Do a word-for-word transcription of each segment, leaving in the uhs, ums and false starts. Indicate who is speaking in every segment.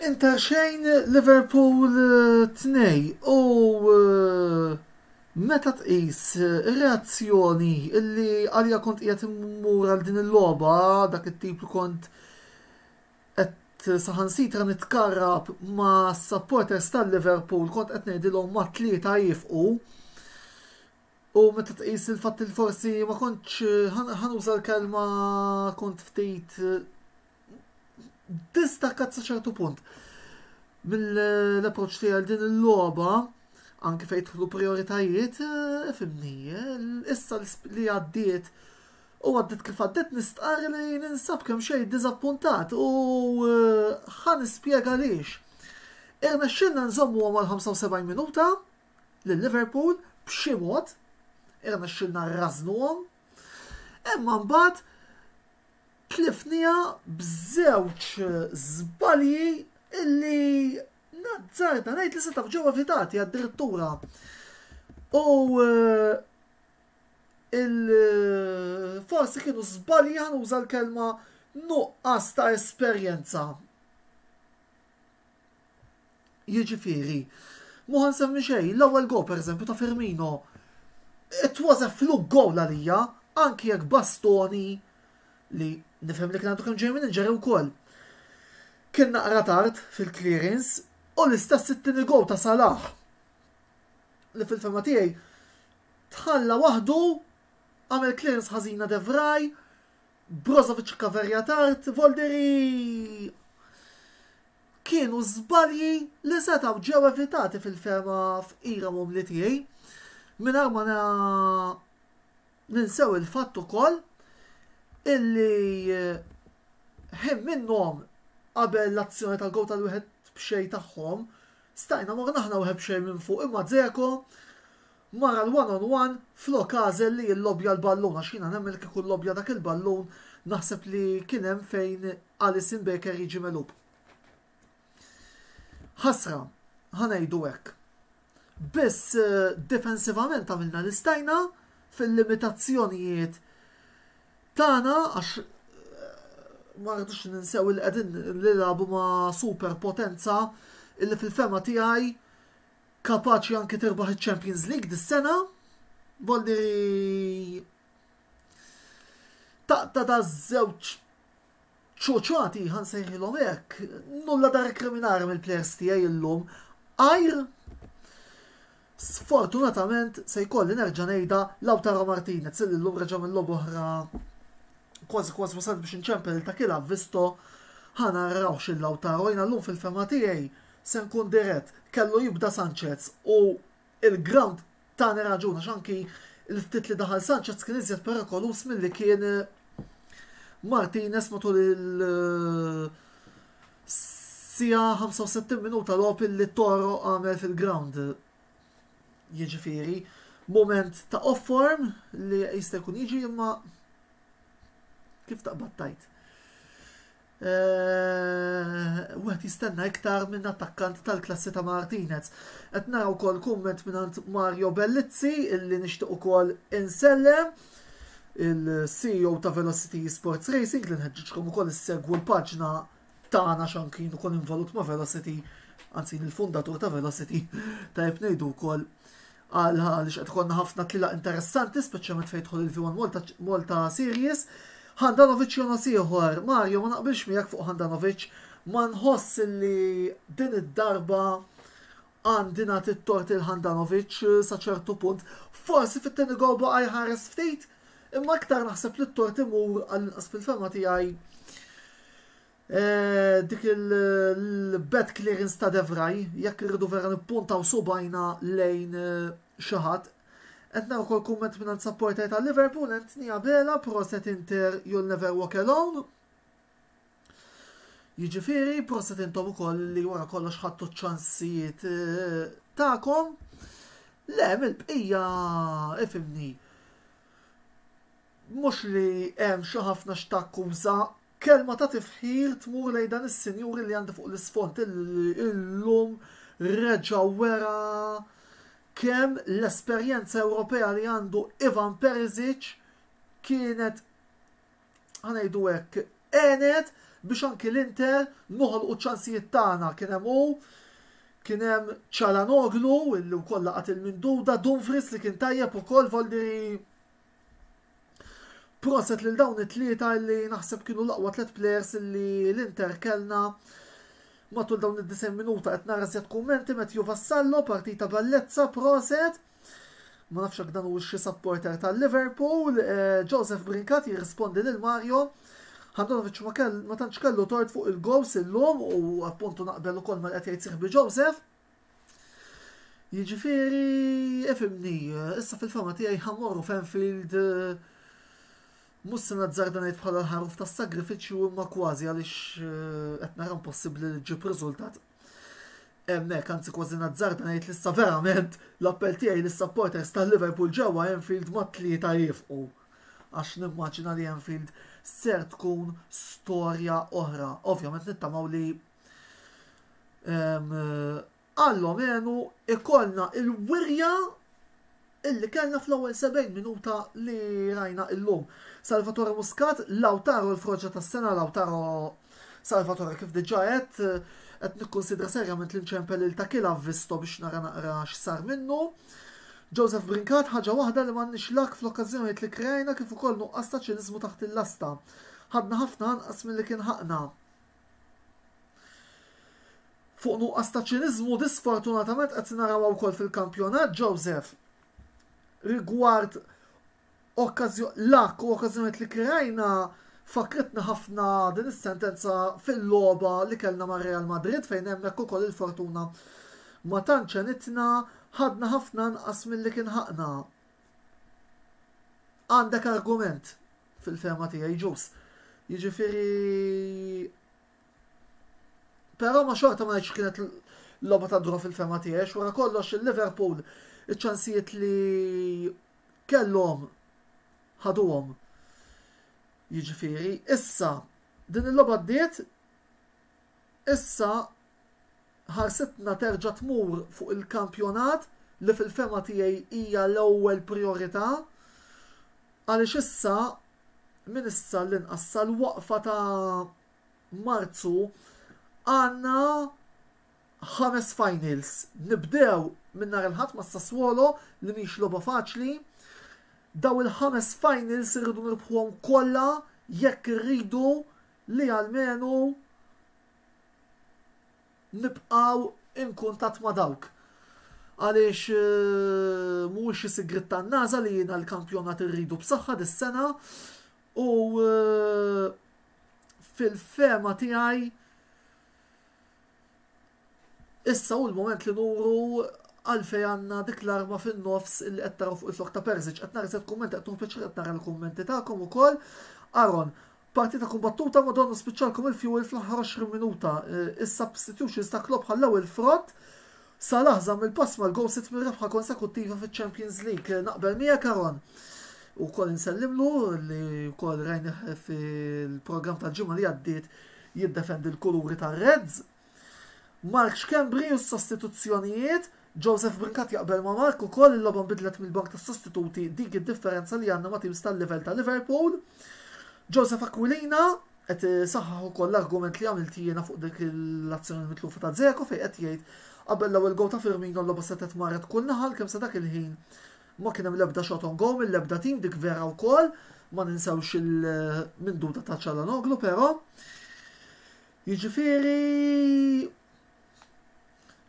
Speaker 1: Inter xejn, Liverpool tnejn u eh, meta tqis reazzjoni illi għalija kont qiegħed immur għal din il-logħba, dak it-tip li kont qed saħansitra nitkarrab ma' supporters tal-Liverpool, kont qed ngħidilhom ma' tlieta jifqu. U meta tqis il-fatt il forsi ma kontx, ħa nuża l-kelma, kont ftit distakkat sa ċertu punt mill-approċ tiegħi għal din il-logħba, anke fejn jidħlu prioritajiet, eh, fimni, issa li għaddiet u għaddiet kif għaddiet, nistqar li ninsab kemm xejn diżappuntat u eh, ħa nispjega għaliex. Irnexxilna nżommu għal ħamsa u sebgħin minuta lil Liverpool b'xi mod, irnexxilna rrażnuhom, imma mbagħad tlifnieha b'żewġ żbalji illi nazzarda ngħid li setgħu ġew evitati addirittura. U eh, il forsi kienu żbalji, ħa nuża l-kelma nuqqas ta' esperjenza. Jiġifieri, mhu ħa nsemmi xejn, l-ewwel goal, per eżempju, ta' Firmino, it was a fluke goal għalija, anki jekk Bastoni, li nifhem li kien għandu kemm ġej minn injury wkoll, kien naqra tard fil-clearance. U l-istess it-tieni goal ta' Salah, li fil-fehma tiegħi tħalla waħdu, għamel clearance ħażina De Vrij, Brozovic kaverja tard, voldiri kienu żbalji li setgħu ġew evitati fil-fehma fqira umli tiegħi. Mingħajr ma ninsew il-fatt ukoll illi eh, ħin minnhom qabel l-azzjoni tal-goal tal-wieħed b'xejn tagħhom, stajna morna aħna wieħed b'xejn minn fuq, imma Dzeko mara l-one on one flok għażel li jillobja l-ballun, għax jiena nemmen kieku llobja dak il-ballun, naħseb li kien hemm fejn Alisson Becker jiġi megħlub. Ħasra, ħa ngħidu hekk. Biss eh, defensivament għamilna l-istajna fil-limitazzjonijiet tagħna, għax eh, ma rridux ninsew il qegħdin nilagħbu ma' super potenza illi fil-fehma tiegħi kapaċi anki tirbaħ il-Champions League dis-sena. Voldiri taqta da żewġ ċoċati, ħa nsejħilhom hekk, nulla da rekriminare mill-players tiegħi illum. Għajr sfortunatament, se jkolli nerġa' ngħidha, Lautaro Martinez, illi llum reġa' minn logħba oħra kważi kważi wasalt biex inċempel ta' kila visto ħa narawx il-Lautaro. Jiena llum fil-fehma tiegħi, se nkun dirett, kellu jibda Sanchez u il-ground tani raġun, għax anki il-ftit li daħal Sanchez kien iżjed perikolus milli kien Martinez matul il- sija ħamsa u sittin minuta logħob li Toro għamel fil-ground. Jiġifieri, moment ta' off-form li jista' jkun jiġi, imma kif taqbad tajt, Eh, wieħed jistenna iktar minn attakkant tal-klassi ta' Martinez. Qed naraw ukoll kumment minn Mario Bellizzi, illi nixtieq ukoll insellem, il-C E O ta' Velocity Sports Racing, li nħeġġiġkom ukoll issegwu l-paġna tagħna għax kien ukoll involut ma' Velocity, anzi il-fundatur ta' Velocity, tajjeb ngħidu wkoll, għal għaliex qed ikollna ħafna tlila interessanti, speċjalment fejn jidħol il-V one Malta, Malta Series. Handanovic jonos ieħor, Mario, ma naqbilx miegħek fuq Handanovic, ma nħoss li din id-darba għandi nagħti t-tort il-Handanovic sa ċertu punt. Forsi fit-tieni goal baqa' jħares ftit, imma aktar naħseb li t-tort imur, għall-inqas fil-fehma tiegħi, eh, dik il-bad clearance ta' De Vrij, jekk irridu vera nippuntaw subgħajna lejn eh, xi ħadd. Qed naraw ukoll kumment minn supporter ta' Liverpool, Anthony Abela, "Proset Inter, you'll never walk alone." Jiġifieri, proset intom ukoll li wara kollox ħadtu ċansijiet eh, tagħkom. Le, mill-bqija, ifimni. Mhux li hemm xi ħafna x'takkuża, kelma ta' tifħir tmur lejn dan is-sinjuri li għandi fuq l-isfond, illum reġa' wera kemm l-esperjenza Ewropea li għandu Ivan Perisic kienet, ħa ngħidu hekk, għenet biex anki l-Inter noħolqu ċansijiet tagħna. Kien hemm hu, kien hemm Çalhanoğlu illi wkoll laqat il-minduda, Dumfries li kien tajjeb ukoll. Voldiri proset lil dawn it-tlieta li naħseb kienu l-aqwa tliet players li l-Inter kellna matul dawn id-disgħin minuta. Qed nara żjed kummenti. Matthew Vassallo, "Partita bellezza, proset." Ma nafx jekk dan hu xi supporter tal-Liverpool. Eh, Joseph Brincat jirrispondi lil Mario: "Handanovic ma kell ma tantx kellu tort fuq il-goals illum", u appuntu naqbel ukoll ma qed jgħid sieħbi Joseph. Jiġifieri, ifhimni, issa fil-fehma tiegħi ħa mmorru f'Anfield, mhux se nazzarda ngħid bħala l-ħaruf tas-sagrifiċċju, imma kważi, għaliex eh, qed nara impossibbli li ġġib riżultat hemmhekk, anzi kważi nazzarda ngħid li issa verament l-appell tiegħi lis-supporters tal-Liverpool ġewwa Anfield mat-tlieta jifqu. Għax nimmaġina li Anfield ser tkun storja oħra. Ovvjament nittamaw li almenu ikollna il-wirja illi kellna fl-ewwel sebgħin minuta li rajna illum. Salvatore Muscat, "Lautaro l-froġa tas-sena". Lautaro, Salvatore, kif diġà qed qed nikkonsidra serjament li nċempel il ta' Kila visto biex nara naqra x'sar minnu. Joseph Brincat, "Ħaġa waħda li m'għandniex luck fl-okkażjonijiet li krejna kif ukoll nuqqas ta' ċiniżmu taħt il-lasta. Ħadna ħafna anqas milli kien ħaqna." Fuq nuqqas ta' ċiniżmu disfortunatament qed naraw ukoll fil-kampjonat, Joseph. Rigward luck u okkażjonijiet li krejna, fakritna ħafna din is-sentenza fil-logħba li kellna ma' Real Madrid, fejn hemmhekk ukoll il-fortuna ma tantx għenitna, ħadna ħafna anqas milli kien ħaqna. Għandek argument fil-fehma tiegħi, ġus. Jiġifieri, però ma xorta ma ngħidx kienet logħba ta' draw fil-fehma tiegħi, wara kollox il-Liverpool iċ-ċansijiet li kellhom ħaduhom. Jiġifieri, issa din il-logħba ddiet, issa ħarsitna terġa' tmur fuq il-kampjonat li fil-fehma tiegħi hija l-ewwel priorità, għaliex issa minn issa l-inqas sal-waqfa ta' Marzu għandna ħames finals. Nibdew minn nhar il-Ħadd ma' Sassuolo li mhix logħba faċli. Daw il-ħames finals irridu nirbħuhom kollha jekk irridu li almenu nibqaw in kuntatt ma' dawk. Għaliex eh, mhuwiex xi sigrit tan-NASA li jiena l-kampjonat irridu b'saħħa dis-sena u eh, fil-fehma tiegħi issa hu l-moment li nuru għalfej għandna dik l-arma fin-nofs li qed taraw fuq il-flok ta' Perisic. Qed nara set kumment, qed pjaċir qed nara l-kummenti tagħkom ukoll. Aaron, "Partita kumbattuta, madonna spiċċalkom il-fuel fl-aħħar għoxrin minuta. Eh, is-substitutions ta' Klopp ħallew il-frott. Salah żamm il-pass mal-goal sitt mir-rebħa konsekuttiva fiċ-Champions League." Naqbel miegħek, Aaron. U kol insellimlu li wkoll rajnih fil-programm tal-ġimgħa li għaddiet jiddefendi l-kuluri tar-Reds. Mark Schembri u s-sostituzzjonijiet, Joseph Brincat jaqbel ma' Mark ukoll, "Il-logħba nbidlet mill-bank tas sostituti, dik id-differenza li għandna ma' teams tal-level ta' Liverpool." Joseph Aquilina qed saħħaħ ukoll l-argument li għamilt jiena fuq dik l-azzjoni mitlufa ta' Dzeko, fejn qed jgħid qabel l-ewwel goal ta' Firmino l-logħba setgħet marret kull naħa, kemm sa dak il-ħin ma kien hemm l-ebda shot on goal mill-ebda team. Dik vera wkoll, ma ninsewx il-minduda ta' Çalhanoğlu però. Jiġifieri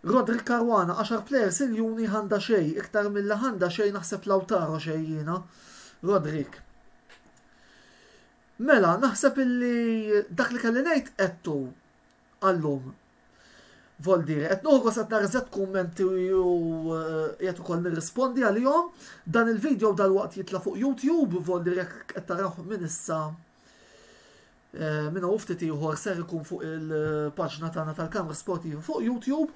Speaker 1: Rodrik Caruana, "għaxar players il-juni ħanda xej, iktar mill ħanda xej naħseb Lautaro xej jiena." Rodrik. Mela, naħseb illi dak li kelli ngħid għedtu għallum. Voldiri, qed noħgos qed nara kummenti u qiegħed ukoll nirrispondi għalihom. Dan il-video dal-waqt jitla' fuq YouTube, voldiri jekk qed taraw minn issa eh, minn hawn ftit ieħor ser ikun fuq il-paġna tagħna tal-Kamra Sportiva fuq YouTube.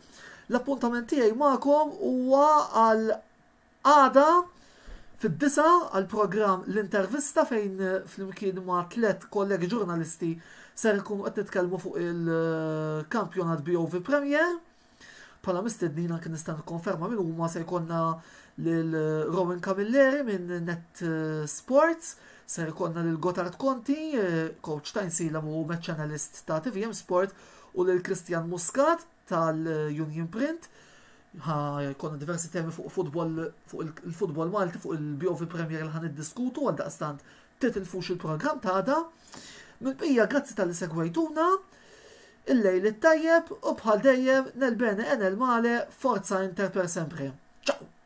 Speaker 1: L-appuntament tiegħi magħkom huwa għal għada fid-disgħa għal programm L-Intervista, fejn flimkien ma' tlet kollegi ġurnalisti ser ikunu qed nitkellmu fuq il-kampjonat B O V Premier. Bħala mistednina kien nista' nikkonferma min huma: se jkollna lil Rowan Camilleri minn Net Sports, Ser ikollna lil Gotard Conti, eh, coach ta' Għajnsielem u match analyst ta' T V M Sport, u lil Christian Muscat tal-Union Print. Ħa jkollna diversi temi fuq futbol, fuq il-futbol Malti, fuq il-B O V Premier li ħa niddiskutu, għal daqstant titilfux il-programm ta' għada. Mill-bqija, grazzi talli segwejtuna, il-lejl it-tajjeb u bħal dejjem, nel bene e nel male, forza Inter per sempre. Ciao!